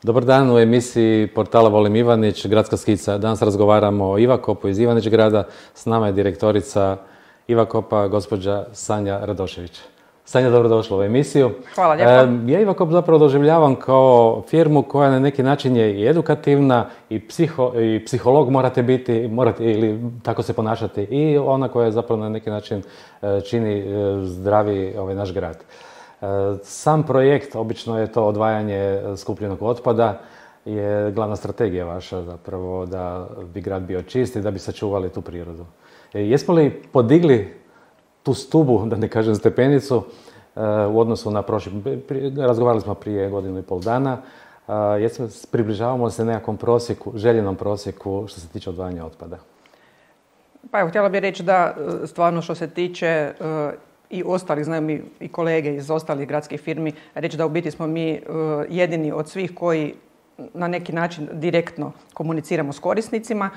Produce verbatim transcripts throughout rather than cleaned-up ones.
Dobar dan u emisiji portala Volim Ivanić, Gradska skica. Danas razgovaramo o Ivakopu iz Ivanić grada. S nama je direktorica Ivakopa, gospođa Sanja Radošević. Sanja, dobrodošla u emisiju. Hvala lijepo. E, ja Ivakop zapravo doživljavam kao firmu koja na neki način je i edukativna i, psiho, i psiholog morate biti, morate, ili tako se ponašati, i ona koja zapravo na neki način čini zdravi ovaj naš grad. Sam projekt, obično je to odvajanje skupljenog otpada, je glavna strategija vaša zapravo da bi grad bio čist i da bi sačuvali tu prirodu. Jesmo li podigli tu stubu, da ne kažem stepenicu, u odnosu na prošli, razgovarali smo prije godinu i pol dana, jesmo, približavamo se nekakvom prosjeku, željenom prosjeku što se tiče odvajanja otpada? Pa evo, htjela bih reći da stvarno što se tiče i ostalih, znaju mi i kolege iz ostalih gradskih firmi, reći da u biti smo mi jedini od svih koji na neki način direktno komuniciramo s korisnicima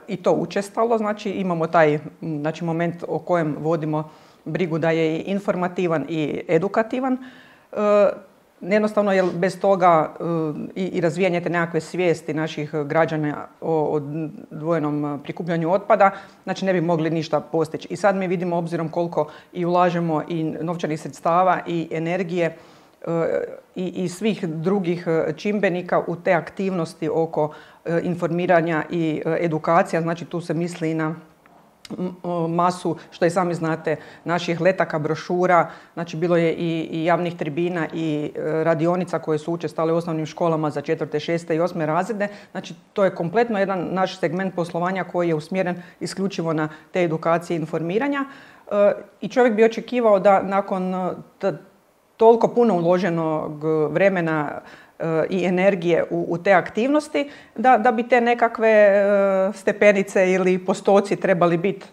i to učestalo. Znači imamo taj znači, moment o kojem vodimo brigu da je i informativan i edukativan. Jednostavno, jer bez toga i, i razvijanje te nekakve svijesti naših građana o odvojenom prikupljanju otpada, znači ne bi mogli ništa postići. I sad mi vidimo, obzirom koliko i ulažemo i novčanih sredstava i energije i, i svih drugih čimbenika u te aktivnosti oko informiranja i edukacija, znači tu se misli i na masu, što i sami znate, naših letaka, brošura, znači bilo je i, i javnih tribina i radionica koje su učestale u osnovnim školama za četvrte, šeste i osme razrede. Znači to je kompletno jedan naš segment poslovanja koji je usmjeren isključivo na te edukacije i informiranja. I čovjek bi očekivao da nakon toliko puno uloženog vremena i energije u, u te aktivnosti, da, da bi te nekakve stepenice ili postoci trebali biti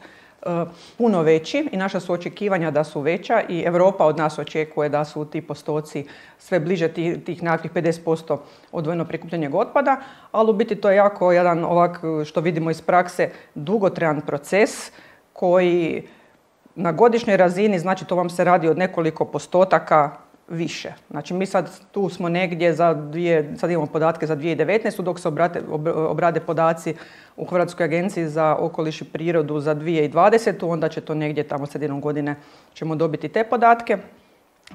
puno veći i naša su očekivanja da su veća i Europa od nas očekuje da su ti postoci sve bliže tih, tih nekakvih pedeset posto odvojeno prikupljenog otpada, ali u biti to je jako jedan ovak, što vidimo iz prakse, dugotrajan proces koji na godišnjoj razini, znači to vam se radi od nekoliko postotaka više. Znači mi sad tu smo negdje za dvije, sad imamo podatke za dvije tisuće devetnaestu dok se obrate, obrade podaci u Hrvatskoj agenciji za okoliš i prirodu za dvije tisuće dvadesetu onda će to negdje tamo sredinom godine ćemo dobiti te podatke.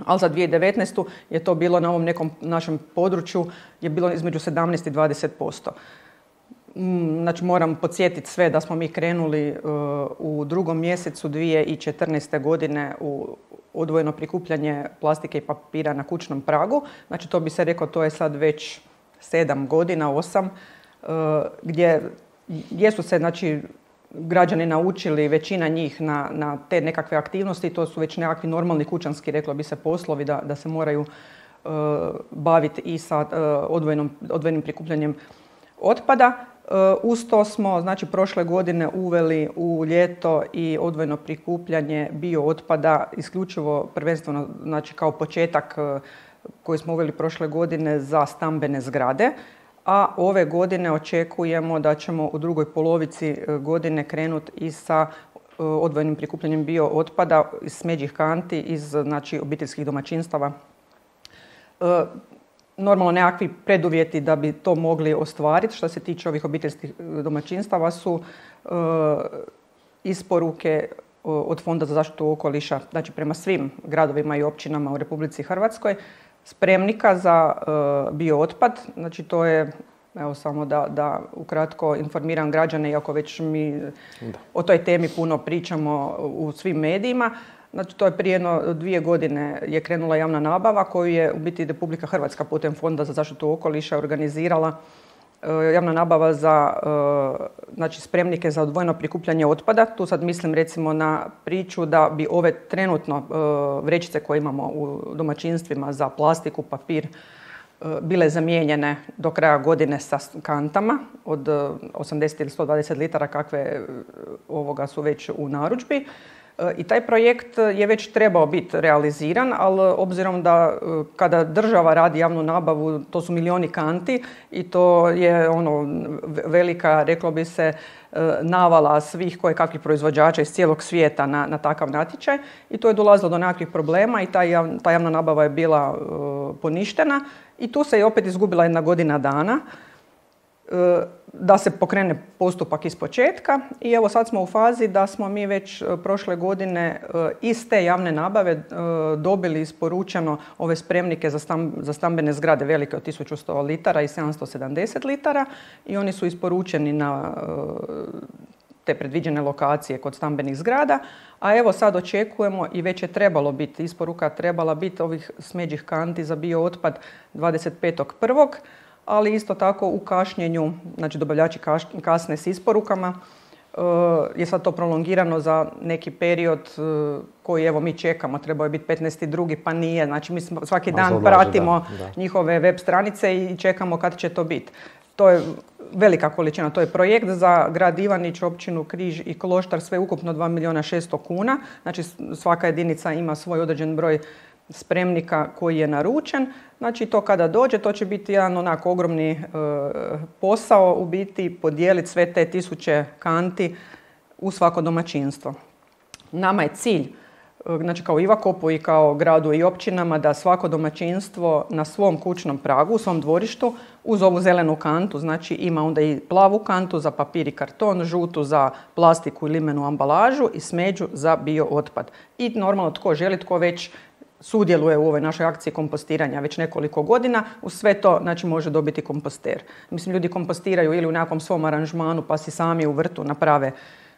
Ali za dvije tisuće devetnaestu je to bilo na ovom nekom našem području je bilo između sedamnaest i dvadeset posto. Znači moram podsjetiti sve da smo mi krenuli uh, u drugom mjesecu dvije tisuće četrnaeste godine u odvojeno prikupljanje plastike i papira na kućnom pragu. Znači to bi se rekao, to je sad već sedam godina, osam, uh, gdje jesu se znači, građani naučili, većina njih, na, na te nekakve aktivnosti. To su već nekakvi normalni kućanski, reklo bi se, poslovi da, da se moraju uh, baviti i sa uh, odvojenom, odvojenim prikupljanjem otpada. Uz to smo znači, prošle godine uveli u ljeto i odvojeno prikupljanje bio otpada isključivo prvenstveno znači, kao početak koji smo uveli prošle godine za stambene zgrade, a ove godine očekujemo da ćemo u drugoj polovici godine krenuti i sa odvojenim prikupljanjem bio otpada iz smeđih kanti iz znači, obiteljskih domaćinstava. Normalno nekakvi preduvjeti da bi to mogli ostvariti što se tiče ovih obiteljskih domaćinstava su e, isporuke od Fonda za zaštitu okoliša, znači prema svim gradovima i općinama u Republici Hrvatskoj, spremnika za e, biootpad. Znači to je, evo samo da, da ukratko informiram građane, iako već mi da. o toj temi puno pričamo u svim medijima. Znači, to je prije jedno dvije godine je krenula javna nabava koju je u biti Republika Hrvatska putem Fonda za zaštitu okoliša organizirala e, javna nabava za e, znači, spremnike za odvojeno prikupljanje otpada. Tu sad mislim recimo na priču da bi ove trenutno e, vrećice koje imamo u domaćinstvima za plastiku, papir, e, bile zamijenjene do kraja godine sa kantama od osamdeset ili sto dvadeset litara kakve e, ovoga su već u narudžbi. I taj projekt je već trebao biti realiziran, ali obzirom da kada država radi javnu nabavu, to su milioni kanti i to je ono velika, reklo bi se, navala svih kojekakvih proizvođača iz cijelog svijeta na, na takav natječaj i to je dolazilo do nekakvih problema i ta, jav, ta javna nabava je bila uh, poništena I tu se je opet izgubila jedna godina dana da se pokrene postupak iz početka i evo sad smo u fazi da smo mi već prošle godine iz te javne nabave dobili isporučeno ove spremnike za, stam, za stambene zgrade velike od tisuću sto litara i sedamsto sedamdeset litara i oni su isporučeni na te predviđene lokacije kod stambenih zgrada, a evo sad očekujemo i već je trebalo biti, isporuka trebala biti ovih smeđih kanti za biootpad dvadeset petog prvog ali isto tako u kašnjenju, znači dobavljači kasne s isporukama, je sad to prolongirano za neki period koji evo mi čekamo, trebao je biti petnaesti drugi pa nije, znači mi svaki dan pratimo da, da. njihove web stranice i čekamo kad će to biti. To je velika količina, to je projekt za grad Ivanić, općinu Križ i Kloštar, sve ukupno dva milijuna šesto kuna, znači svaka jedinica ima svoj određen broj spremnika koji je naručen. Znači to kada dođe, to će biti jedan onako ogromni e, posao u biti podijeliti sve te tisuće kanti u svako domaćinstvo. Nama je cilj, e, znači kao Ivakopu i kao gradu i općinama, da svako domaćinstvo na svom kućnom pragu, u svom dvorištu, uz ovu zelenu kantu, znači ima onda i plavu kantu za papir i karton, žutu za plastiku i limenu ambalažu i smeđu za biootpad. I normalno tko želi, tko već sudjeluje u ovoj našoj akciji kompostiranja već nekoliko godina, uz sve to znači, može dobiti komposter. Mislim, ljudi kompostiraju ili u nekakvom svom aranžmanu pa si sami u vrtu naprave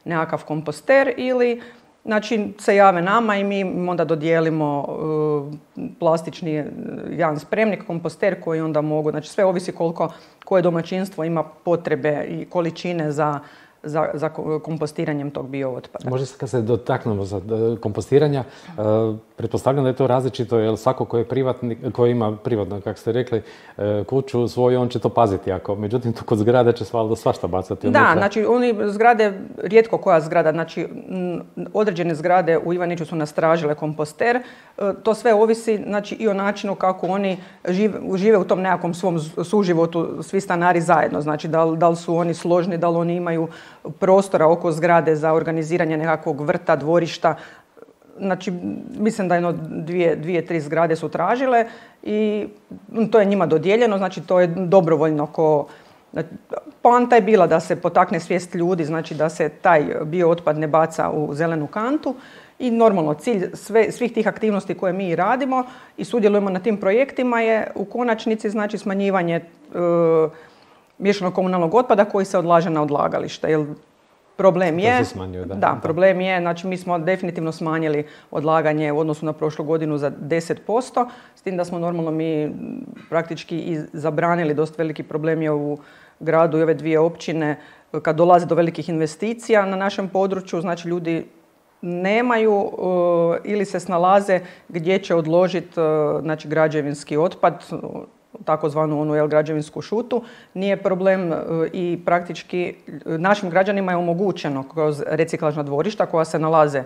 nekakav komposter ili znači, se jave nama i mi onda dodijelimo uh, plastični jedan spremnik, komposter koji onda mogu, znači sve ovisi koliko koje domaćinstvo ima potrebe i količine za Za, za kompostiranjem tog biootpada. Možda kad se dotaknemo za kompostiranja, uh, pretpostavljam da je to različito, jer svako ko je privatnik, ko ima privatno, kako ste rekli, uh, kuću svoju, on će to paziti jako. Međutim, tu kod zgrade će svašta svašta bacati. Da, unutra. Znači oni zgrade, rijetko koja zgrada, znači m, određene zgrade u Ivaniću su nas tražile komposter. Uh, to sve ovisi znači, i o načinu kako oni žive, žive u tom nekakvom svom suživotu, svi stanari zajedno. Znači da, da li su oni složni, da li oni imaju prostora oko zgrade za organiziranje nekakvog vrta, dvorišta. Znači, mislim da jedno dvije, dvije, tri zgrade su tražile i to je njima dodijeljeno, znači to je dobrovoljno ko... Poanta je bila da se potakne svijest ljudi, znači da se taj biootpad ne baca u zelenu kantu i normalno cilj sve, svih tih aktivnosti koje mi radimo i sudjelujemo na tim projektima je u konačnici znači smanjivanje e, miješanog komunalnog otpada koji se odlaže na odlagalište. Jer problem je, smanjuje, da. Da, problem je, znači mi smo definitivno smanjili odlaganje u odnosu na prošlu godinu za deset posto, s tim da smo normalno mi praktički i zabranili, dosta veliki problem je u gradu i ove dvije općine, kad dolazi do velikih investicija na našem području, znači ljudi nemaju uh, ili se snalaze gdje će odložiti uh, znači, građevinski otpad, takozvanu onu jel, građevinsku šutu. Nije problem i praktički našim građanima je omogućeno kroz reciklažna dvorišta koja se nalaze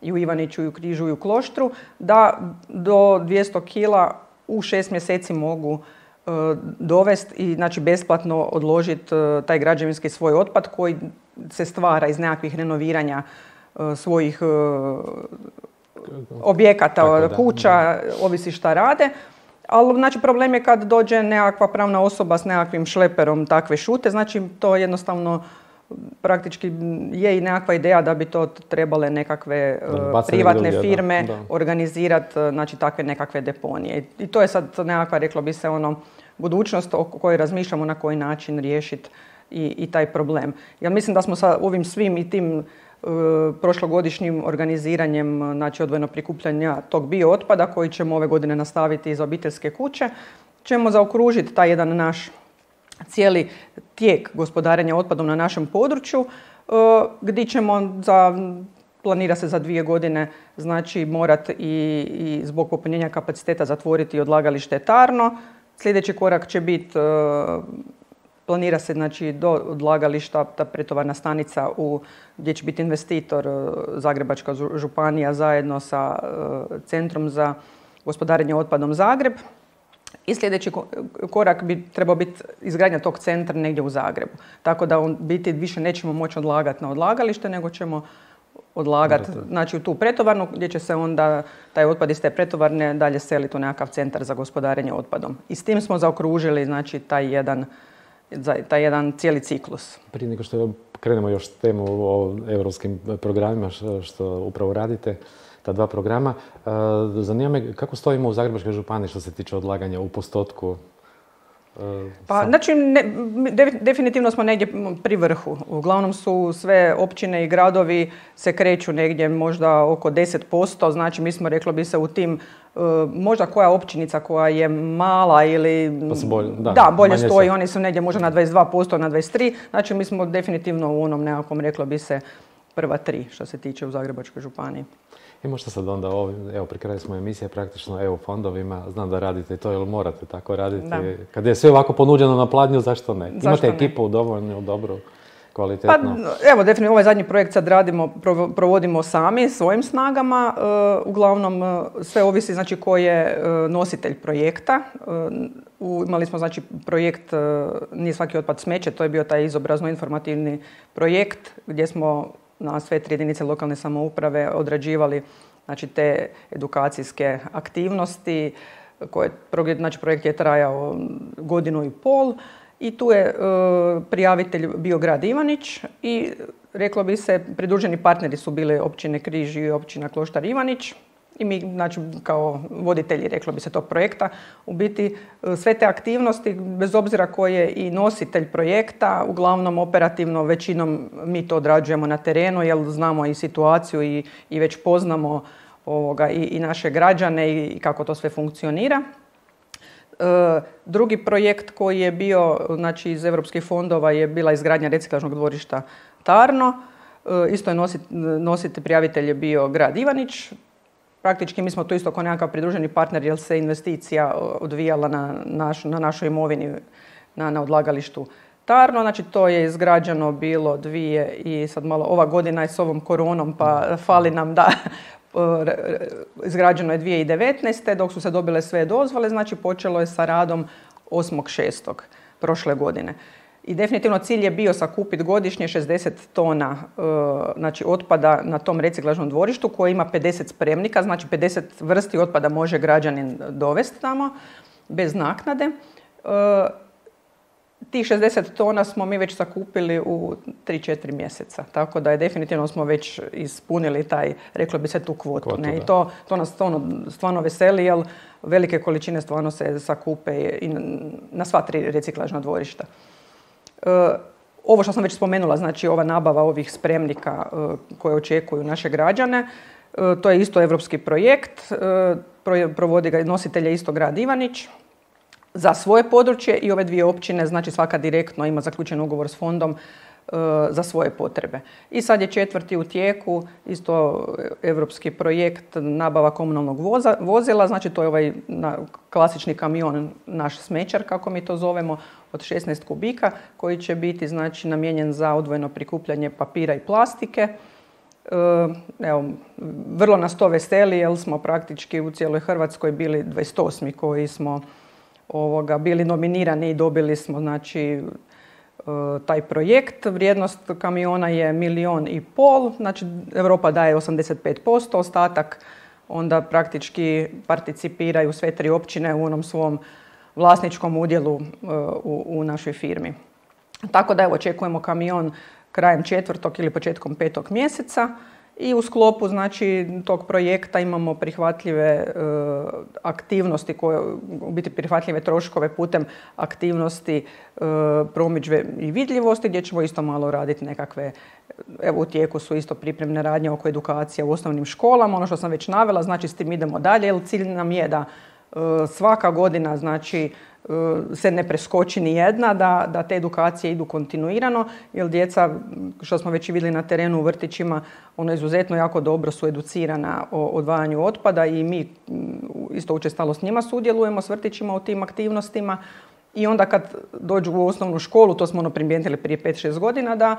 i u Ivaniću, i u Križu, i u Kloštru, da do dvjesto kila u šest mjeseci mogu uh, dovesti i znači, besplatno odložiti uh, taj građevinski svoj otpad koji se stvara iz nekakvih renoviranja uh, svojih uh, objekata, tako, kuća, da. Ovisi šta rade. Ali znači, problem je kad dođe nekakva pravna osoba s nekakvim šleperom takve šute, znači to jednostavno praktički je i nekakva ideja da bi to trebale nekakve uh, privatne ljudi, firme da, da. organizirati znači, takve nekakve deponije. I to je sad nekakva, reklo bi se, ono, budućnost o kojoj razmišljamo na koji način riješiti i, i taj problem. Ja mislim da smo sa ovim svim i tim prošlogodišnjim organiziranjem znači odvojeno prikupljanja tog biootpada koji ćemo ove godine nastaviti iz obiteljske kuće, ćemo zaokružiti taj jedan naš cijeli tijek gospodarenja otpadom na našem području gdje ćemo za, planira se za dvije godine znači morati i, i zbog popunjenja kapaciteta zatvoriti odlagalište Tarno. Sljedeći korak će biti planira se znači, do odlagališta ta pretovarna stanica u, gdje će biti investitor Zagrebačka županija zajedno sa uh, Centrom za gospodarenje otpadom Zagreb. I sljedeći korak bi trebao biti izgradnja tog centra negdje u Zagrebu. Tako da on biti više nećemo moći odlagati na odlagalište, nego ćemo odlagati, znači u tu pretovarnu gdje će se onda taj otpad iz te pretovarne dalje seliti u nekakav centar za gospodarenje otpadom. I s tim smo zaokružili znači taj jedan, taj jedan cijeli ciklus. Prije nego što krenemo još s temu o europskim programima što upravo radite, ta dva programa, zanima me kako stojimo u Zagrebačkoj županiji što se tiče odlaganja u postotku. Pa, znači, ne, definitivno smo negdje pri vrhu. Uglavnom su sve općine i gradovi se kreću negdje možda oko deset posto. Znači, mi smo, reklo bi se, u tim, možda koja općinica koja je mala ili pa bolje, da, da, bolje stoji, se. Oni su negdje možda na dvadeset dva posto, na dvadeset tri posto. Znači, mi smo definitivno u onom nekakvom, reklo bi se, prva tri što se tiče u Zagrebačkoj županiji. I možda sad onda, evo, pri kraju smo emisije praktično E U fondovima, znam da radite to, jer morate tako raditi. Da. Kad je sve ovako ponuđeno na pladnju, zašto ne? Zašto Imate ne? Ekipu dovoljno dobru, kvalitetno? Pa, evo, definitivno ovaj zadnji projekt sad radimo, provodimo sami, svojim snagama. Uh, uglavnom, sve ovisi, znači, ko je uh, nositelj projekta. Uh, imali smo, znači, projekt uh, Nije svaki otpad smeće, to je bio taj izobrazno-informativni projekt gdje smo na sve tri jedinice lokalne samouprave odrađivali znači, te edukacijske aktivnosti. Koje, znači, projekt je trajao godinu i pol i tu je e, prijavitelj bio grad Ivanić i reklo bi se pridruženi partneri su bile općine Križ i općina Kloštar Ivanić. I mi, znači, kao voditelji, reklo bi se, tog projekta, u biti sve te aktivnosti, bez obzira ko je i nositelj projekta, uglavnom operativno većinom mi to odrađujemo na terenu, jer znamo i situaciju i, i već poznamo ovoga, i, i naše građane i kako to sve funkcionira. E, drugi projekt koji je bio, znači, iz europskih fondova je bila izgradnja reciklažnog dvorišta Tarno. E, isto je nosit, nositelj, prijavitelj je bio grad Ivanić. Praktički mi smo tu isto kao nekakav pridruženi partner jer se investicija odvijala na, naš, na našoj imovini na, na odlagalištu Tarno. Znači to je izgrađeno bilo dvije i sad malo ova godina je s ovom koronom pa fali nam da izgrađeno je dvije tisuće devetnaeste. dok su se dobile sve dozvole, znači počelo je sa radom osmog šestog prošle godine. I definitivno cilj je bio sakupiti godišnje šezdeset tona e, znači, otpada na tom reciklažnom dvorištu koji ima pedeset spremnika, znači pedeset vrsti otpada može građanin dovesti tamo bez naknade. E, tih šezdeset tona smo mi već sakupili u tri četiri mjeseca, tako da je definitivno smo već ispunili taj, reklo bi se, tu kvotu. kvotu ne? I to, to nas stvarno, stvarno veseli, jer velike količine stvarno se sakupe i na sva tri reciklažna dvorišta. Uh, ovo što sam već spomenula, znači ova nabava ovih spremnika uh, koje očekuju naše građane, uh, to je isto europski projekt, uh, provodi ga nositelj je isto grad Ivanić za svoje područje i ove dvije općine, znači svaka direktno ima zaključen ugovor s fondom uh, za svoje potrebe. I sad je četvrti u tijeku, isto europski projekt nabava komunalnog voza, vozila, znači to je ovaj na, klasični kamion, naš smećar kako mi to zovemo, od šesnaest kubika koji će biti, znači, namijenjen za odvojeno prikupljanje papira i plastike. E, evo, vrlo nas to veseli jer smo praktički u cijeloj Hrvatskoj bili dvadeset osmi koji smo ovoga, bili nominirani i dobili smo, znači, e, taj projekt. Vrijednost kamiona je milijon i pol, znači Europa daje osamdeset pet posto, ostatak onda praktički participiraju sve tri općine u onom svom vlasničkom udjelu u, u našoj firmi. Tako da evo, očekujemo kamion krajem četvrtog ili početkom petog mjeseca i u sklopu, znači, tog projekta imamo prihvatljive e, aktivnosti, koje, u biti prihvatljive troškove putem aktivnosti e, promidžbe i vidljivosti gdje ćemo isto malo raditi nekakve, evo u tijeku su isto pripremne radnje oko edukacije u osnovnim školama, ono što sam već navela, znači s tim idemo dalje jer cilj nam je da svaka godina, znači, se ne preskoči ni jedna, da, da te edukacije idu kontinuirano, jer djeca, što smo već i vidjeli na terenu u vrtićima, ono izuzetno jako dobro su educirana o odvajanju otpada i mi isto učestalo s njima sudjelujemo s vrtićima u tim aktivnostima. I onda kad dođu u osnovnu školu, to smo ono primijetili prije pet šest godina, da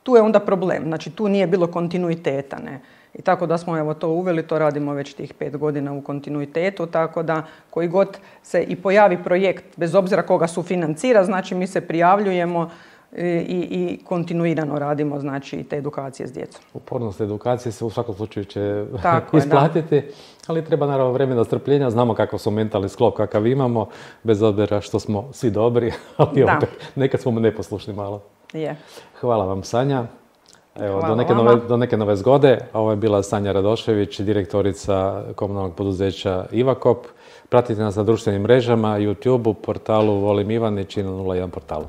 tu je onda problem, znači tu nije bilo kontinuiteta, ne. I tako da smo evo to uveli, to radimo već tih pet godina u kontinuitetu, tako da koji god se i pojavi projekt, bez obzira koga sufinancira, znači mi se prijavljujemo i, i kontinuirano radimo znači te edukacije s djecom. Upornost edukacije se u svakom slučaju će Tako isplatiti, je, ali treba naravno vremena strpljenja, znamo kakav su mentalni sklop kakav imamo, bez obzira što smo svi dobri, ali opet nekad smo neposlušni malo. Je. Hvala vam, Sanja. Evo, Hvala do, neke vama. nove, do neke nove zgode. Ovo je bila Sanja Radošević, direktorica komunalnog poduzeća Ivakop. Pratite nas na društvenim mrežama, YouTube-u, portalu Volim Ivanić i na nula jedan portalu.